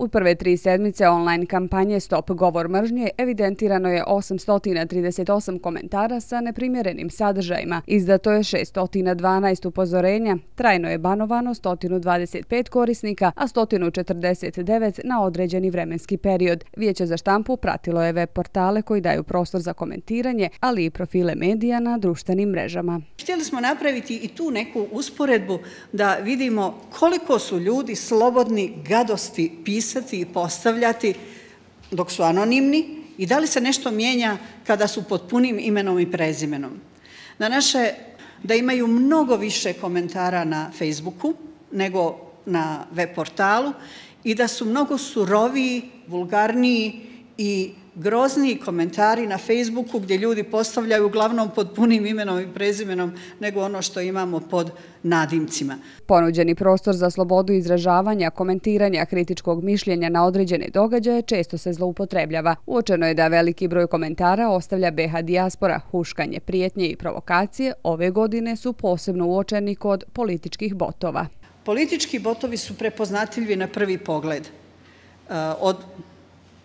U prve 3 sedmice online kampanje Stop govor mržnje evidentirano je 838 komentara sa neprimjerenim sadržajima, izdato je 612 upozorenja, trajno je banovano 125 korisnika, a 149 na određeni vremenski period. Vijeće za štampu pratilo je web portale koji daju prostor za komentiranje, ali i profile medija na društvenim mrežama. Htjeli smo napraviti i tu neku usporedbu da vidimo koliko su ljudi slobodni gadosti pisati i postavljati dok su anonimni i da li se nešto mijenja kada su pod punim imenom i prezimenom. Da imaju mnogo više komentara na Facebooku nego na web portalu i da su mnogo suroviji, vulgarniji i grozniji komentari na Facebooku gdje ljudi postavljaju uglavnom pod punim imenom i prezimenom nego ono što imamo pod nadimcima. Ponuđeni prostor za slobodu izražavanja, komentiranja, kritičkog mišljenja na određene događaje često se zloupotrebljava. Uočeno je da veliki broj komentara ostavlja BH dijaspora. Huškanje, prijetnje i provokacije ove godine su posebno uočeni kod političkih botova. Politički botovi su prepoznatljivi na prvi pogled. Od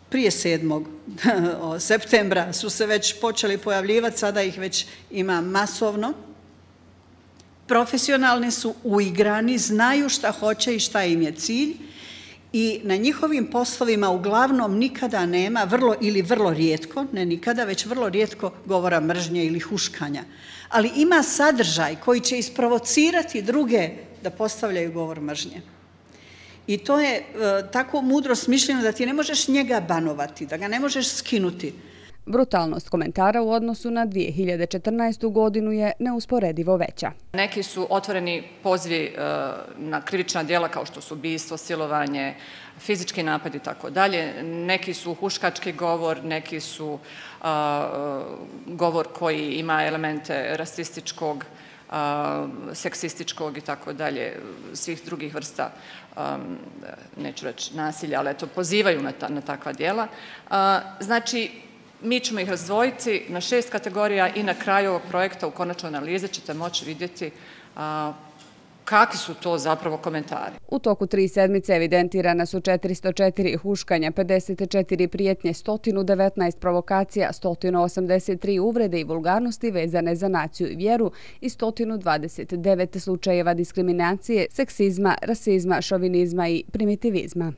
prije 7. septembra su se već počeli pojavljivati, sada ih već ima masovno. Profesionalni su, uigrani, znaju šta hoće i šta im je cilj i na njihovim poslovima uglavnom nikada nema, vrlo rijetko, ne nikada, već vrlo rijetko govora mržnje ili huškanja. Ali ima sadržaj koji će isprovocirati druge da postavljaju govor mržnje. I to je tako mudro smišljeno da ti ne možeš njega banovati, da ga ne možeš skinuti. Brutalnost komentara u odnosu na 2014. godinu je neusporedivo veća. Neki su otvoreni pozivi na krivična djela kao što su ubistvo, silovanje, fizički napad i tako dalje. Neki su huškački govor, neki su govor koji ima elemente rasističkog, seksističkog i tako dalje, svih drugih vrsta, neću reći nasilja, ali eto, pozivaju na takva djela. Znači, mi ćemo ih razdvojiti na 6 kategorija i na kraju ovog projekta u konačnoj analizi ćete moći vidjeti kakvi su to zapravo komentari. U toku 3 sedmice evidentirana su 404 huškanja, 54 prijetnje, 119 provokacija, 183 uvrede i vulgarnosti vezane za naciju i vjeru i 129 slučajeva diskriminacije, seksizma, rasizma, šovinizma i primitivizma.